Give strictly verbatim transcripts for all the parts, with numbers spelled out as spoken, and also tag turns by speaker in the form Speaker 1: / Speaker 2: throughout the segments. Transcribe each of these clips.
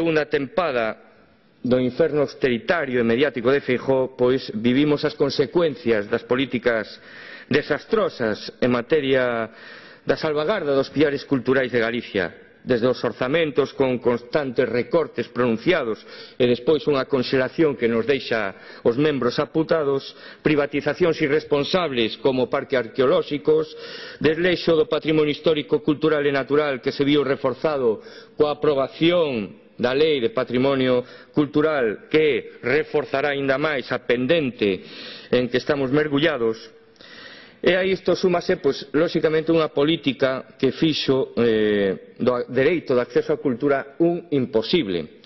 Speaker 1: segunda tempada do inferno austeritario e mediático de Feijóo, pois vivimos as consecuencias das políticas desastrosas en materia da salvagarda dos piares culturais de Galicia, desde os orzamentos con constantes recortes pronunciados e despois unha conxelación que nos deixa os membros aputados, privatizacións irresponsables como parques arqueolóxicos, desleixo do patrimonio histórico, cultural e natural que se viu reforzado coa aprobación da Lei de Patrimonio Cultural, que reforzará aínda máis a pendente en que estamos mergullados. E a isto súmase, pois, lóxicamente, unha política que fixo eh, do dereito de acceso á cultura un imposible.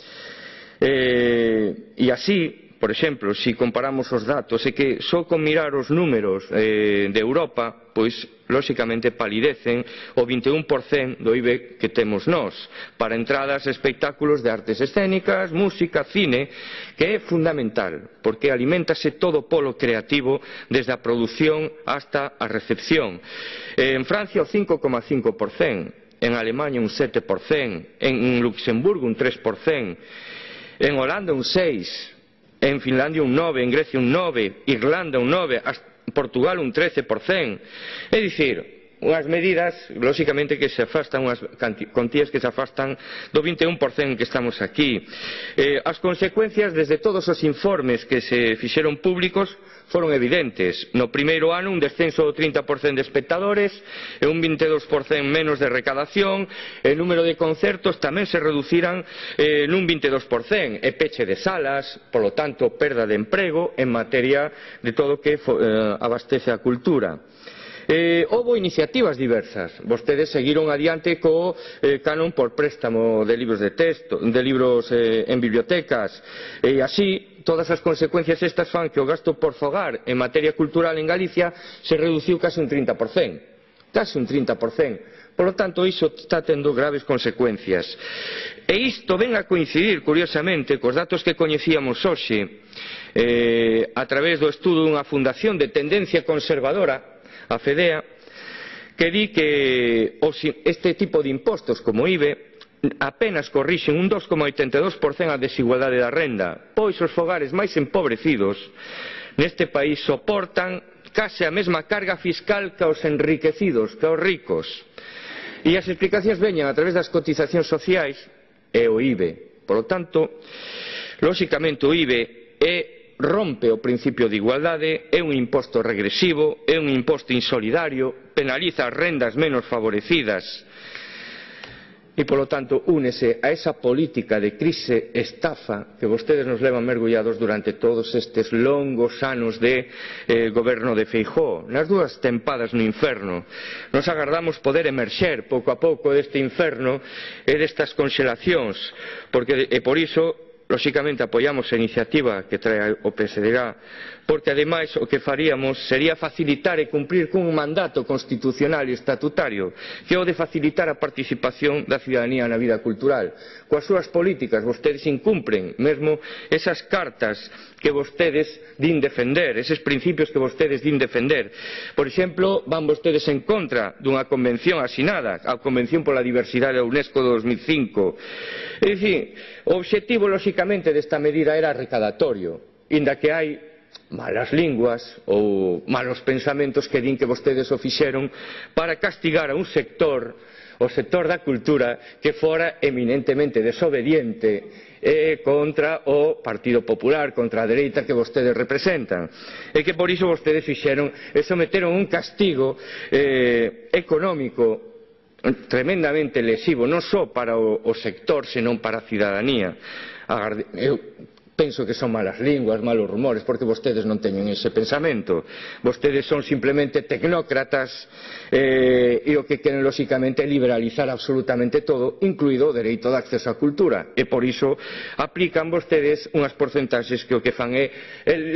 Speaker 1: Eh, e así, por exemplo, se comparamos os datos, é que só con mirar os números eh, de Europa, pois, lóxicamente, palidecen o vinte e un por cento do I B E que temos nós, para entradas e espectáculos de artes escénicas, música, cine, que é fundamental, porque aliméntase todo o polo creativo, desde a produción hasta a recepción. En Francia o cinco coma cinco por cento, en Alemanha un sete por cento, en Luxemburgo un tres por cento, en Holanda un seis por cento, en Finlandia un nove por cento, en Grecia un nove por cento, Irlanda un nove por cento, Portugal un trece por cento. É dicir, unhas medidas, lóxicamente, que se afastan, unhas contías que se afastan do vinte e un por cento que estamos aquí. Eh, as consecuencias, desde todos os informes que se fixeron públicos, foron evidentes. No primeiro ano, un descenso do trinta por cento de espectadores e un vinte e dous por cento menos de recadación. O número de concertos tamén se reduciran eh, nun vinte e dous por cento, e peche de salas, polo tanto, perda de emprego en materia de todo o que eh, abastece a cultura. Eh, houbo iniciativas diversas. Vostedes seguiron adiante co eh, canon por préstamo de libros de texto, de libros eh, en bibliotecas, e así todas as consecuencias estas fan que o gasto por fogar en materia cultural en Galicia se reduciu case un trinta por cento, case un trinta por cento. Por lo tanto, iso está tendo graves consecuencias. E isto ven a coincidir, curiosamente, cos datos que coñecíamos hoxe eh, a través do estudo dunha fundación de tendencia conservadora, a FEDEA, que di que este tipo de impostos como I B E apenas corrixen un dos coma oitenta e dous por cento a desigualdade da renda, pois os fogares máis empobrecidos neste país soportan case a mesma carga fiscal que os enriquecidos, que os ricos. E as explicacións veñen a través das cotizacións sociais e o I B E. Por lo tanto, lóxicamente o I B E é rompe o principio de igualdade, é un imposto regresivo, é un imposto insolidario, penaliza as rendas menos favorecidas e, polo tanto, únese a esa política de crise estafa que vostedes nos levan mergullados durante todos estes longos anos de eh, goberno de Feijóo, nas dúas tempadas no inferno. Nos agardamos poder emerxer pouco a pouco deste inferno e destas conxelacións, porque, e por iso, lóxicamente apoiamos a iniciativa que trae o P S D G, porque ademais o que faríamos sería facilitar e cumprir cun mandato constitucional e estatutario, que é o de facilitar a participación da cidadanía na vida cultural. Coas súas políticas vostedes incumpren mesmo esas cartas que vostedes din defender, eses principios que vostedes din defender. Por exemplo, van vostedes en contra dunha convención asinada, a Convención pola Diversidade da UNESCO de dos mil cinco. É dicir, o obxectivo, lóxicamente, desta medida era recadatorio, inda que hai malas linguas ou malos pensamentos que din que vostedes o fixeron para castigar a un sector, o sector da cultura, que fora eminentemente desobediente e contra o Partido Popular, contra a dereita que vostedes representan, e que por iso vostedes fixeron e someteron un castigo eh, económico tremendamente lesivo, non só para o, o sector, senón para a cidadanía. Eu penso que son malas linguas, malos rumores, porque vostedes non teñen ese pensamento. Vostedes son simplemente tecnócratas eh, e o que queren, lóxicamente, é liberalizar absolutamente todo, incluído o dereito de acceso á cultura. E por iso aplican vostedes unhas porcentaxes que o que fan é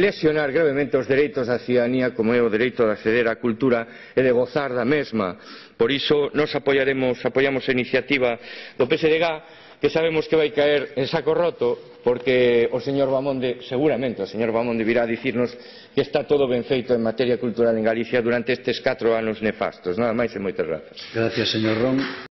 Speaker 1: lesionar gravemente os dereitos da cidadanía, como é o dereito de acceder á cultura e de gozar da mesma. Por iso nos apoiaremos, apoiamos a iniciativa do P S D G, que sabemos que vai caer en saco roto, porque o señor Bamonde, seguramente o señor Bamonde virá a dicirnos que está todo ben feito en materia cultural en Galicia durante estes catro anos nefastos. Nada máis e moitas grazas.
Speaker 2: Gracias, señor Ron.